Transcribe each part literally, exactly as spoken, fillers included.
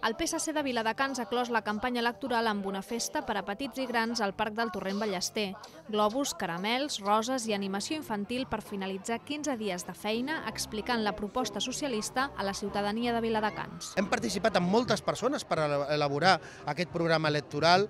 El P S C de Viladecans ha clos la campanya electoral amb una festa per a petits i grans al Parc del Torrent Ballester. Globus, caramels, roses i animació infantil per finalitzar quinze dies de feina explicant la proposta socialista a la ciutadania de Viladecans. Hem participat amb moltes persones per elaborar aquest programa electoral.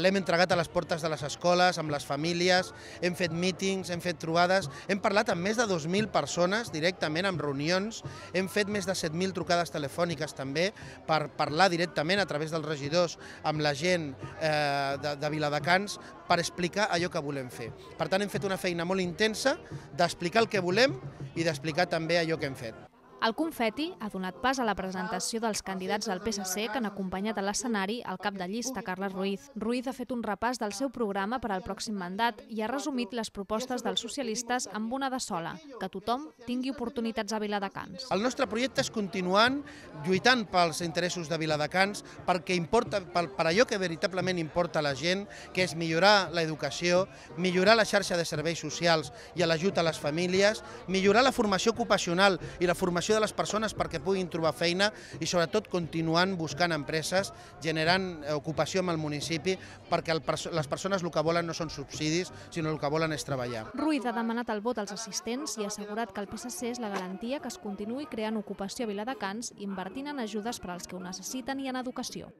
L'hem entregat a les portes de les escoles, amb les famílies, hem fet mítings, hem fet trobades, hem parlat amb més de dos mil persones directament, amb reunions, hem fet més de set mil trucades telefòniques també per parlar directament a través dels regidors amb la gent eh, de, de Viladecans per explicar allò que volem fer. Per tant, hem fet una feina molt intensa d'explicar el que volem i d'explicar també allò que hem fet. El confeti ha donat pas a la presentació dels candidats del P S C que han acompanyat a l'escenari el cap de llista, Carles Ruiz. Ruiz ha fet un repàs del seu programa per al pròxim mandat i ha resumit les propostes dels socialistes amb una de sola, que tothom tingui oportunitats a Viladecans. El nostre projecte és continuant lluitant pels interessos de Viladecans perquè importa, per, per allò que veritablement importa a la gent, que és millorar l'educació, millorar la xarxa de serveis socials i l'ajut a les famílies, millorar la formació ocupacional i la formació de les persones perquè puguin trobar feina i sobretot continuant buscant empreses, generant ocupació amb el municipi perquè el, les persones el que volen no són subsidis, sinó el que volen és treballar. Ruiz ha demanat el vot als assistents i ha assegurat que el P S C és la garantia que es continuï creant ocupació a Viladecans invertint en ajudes per als que ho necessiten i en educació.